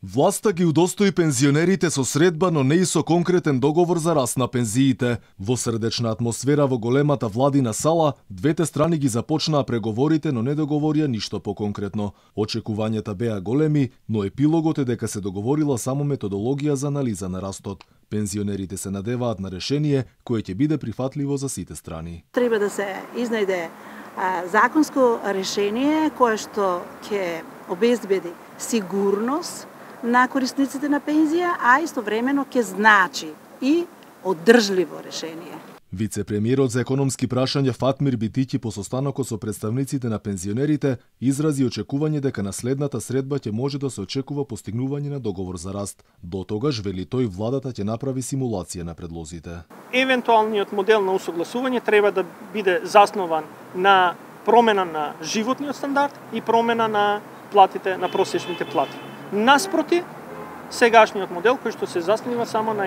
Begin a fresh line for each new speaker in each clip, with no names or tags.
Власта ги удостои пензионерите со средба, но не и со конкретен договор за раст на пензиите. Во срдечна атмосфера во големата владина сала, двете страни ги започнаа преговорите, но не договорија ништо поконкретно. Очекувањата беа големи, но епилогот е дека се договорила само методологија за анализа на растот. Пензионерите се надеваат на решение кое ќе биде прифатливо за сите страни.
Треба да се изнајде законско решение кое што ќе обезбеди сигурност на корисниците на пензија, а истовремено ќе значи и одржливо решение.
Вице-премиерот за економски прашања Фатмир Битиќи по состанокот со представниците на пензионерите изрази очекување дека на следната средба ќе може да се очекува постигнување на договор за раст. До тогаш, вели тој, владата ќе направи симулација на предлозите.
Евентуалниот модел на усогласување треба да биде заснован на промена на животниот стандард и промена на платите, на просечните плати. Наспроти, сегашниот модел кој што се заснива само на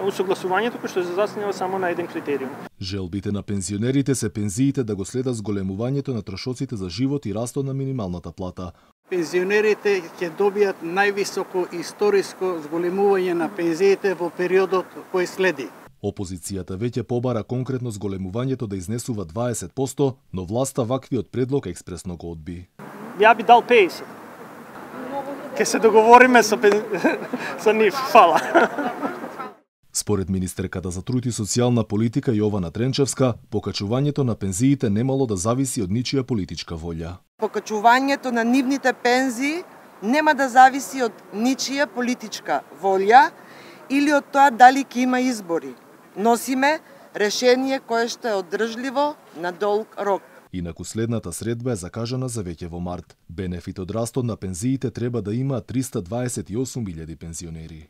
усогласувањето кој што се заснива само на еден критериум.
Желбите на пензионерите се пензиите да го следат зголемувањето на трошоците за живот и растот на минималната плата.
Пензионерите ќе добијат највисоко историско зголемување на пензиите во периодот кој следи.
Опозицијата веќе побара конкретно зголемувањето да изнесува 20%, но власта ваквиот предлог експресно го одби.
Ја би дал 50%. Ке се договориме со нив. Фала.
Според министерката за труд и социјална политика Јована Тренчевска, покачувањето на пензиите немало да зависи од ничија политичка волја.
Покачувањето на нивните пензии нема да зависи од ничија политичка волја или од тоа дали ќе има избори. Носиме решение кое што е одржливо на долг рок.
Инаку следната средба е закажана за веќе во март. Бенефит од растот на пензиите треба да има 328.000 пензионери.